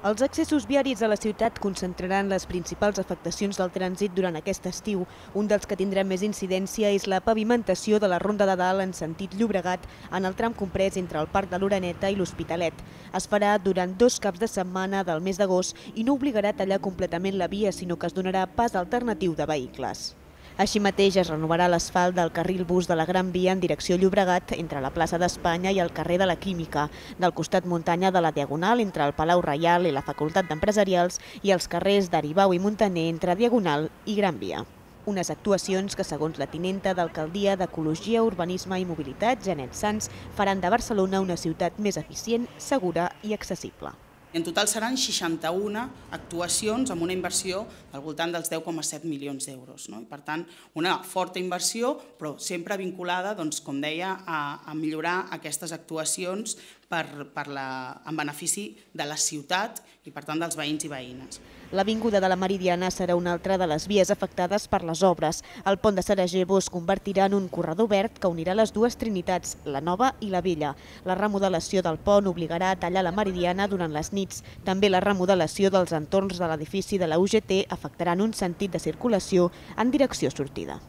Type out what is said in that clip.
Els accessos viaris a la ciutat concentraran les principals afectacions del trànsit durant aquest estiu. Un dels que tindrà més incidència és la pavimentació de la Ronda de Dalt en sentit Llobregat en el tram comprès entre el Parc de l'Oreneta i l'Hospitalet. Es farà durant 2 caps de setmana del mes d'agost i no obligarà a tallar completament la via, sinó que es donarà pas alternatiu de vehicles. Així mateix es renovarà l'asfalt del carril bus de la Gran Via en direcció Llobregat entre la plaça d'Espanya i el carrer de la Química, del costat muntanya de la Diagonal entre el Palau Reial i la Facultat d'Empresarials i els carrers d'Aribau i Muntaner entre Diagonal i Gran Via. Unes actuacions que, segons la tinenta d'Alcaldia d'Ecologia, Urbanisme i Mobilitat, Janet Sans, faran de Barcelona una ciutat més eficient, segura i accessible. En total seran 61 actuacions amb una inversió al voltant dels 10,7 milions d'euros. Per tant, una forta inversió, però sempre vinculada, com deia, a millorar aquestes actuacions en benefici de la ciutat i, per tant, dels veïns i veïnes. L'Avinguda de la Meridiana serà una altra de les vies afectades per les obres. El pont de Sarajevo es convertirà en un corredor verd que unirà les dues Trinitats, la Nova i la Vella. La remodelació del pont obligarà a tallar la Meridiana durant les nits. També la remodelació dels entorns de l'edifici de la UGT afectarà en un sentit de circulació en direcció sortida.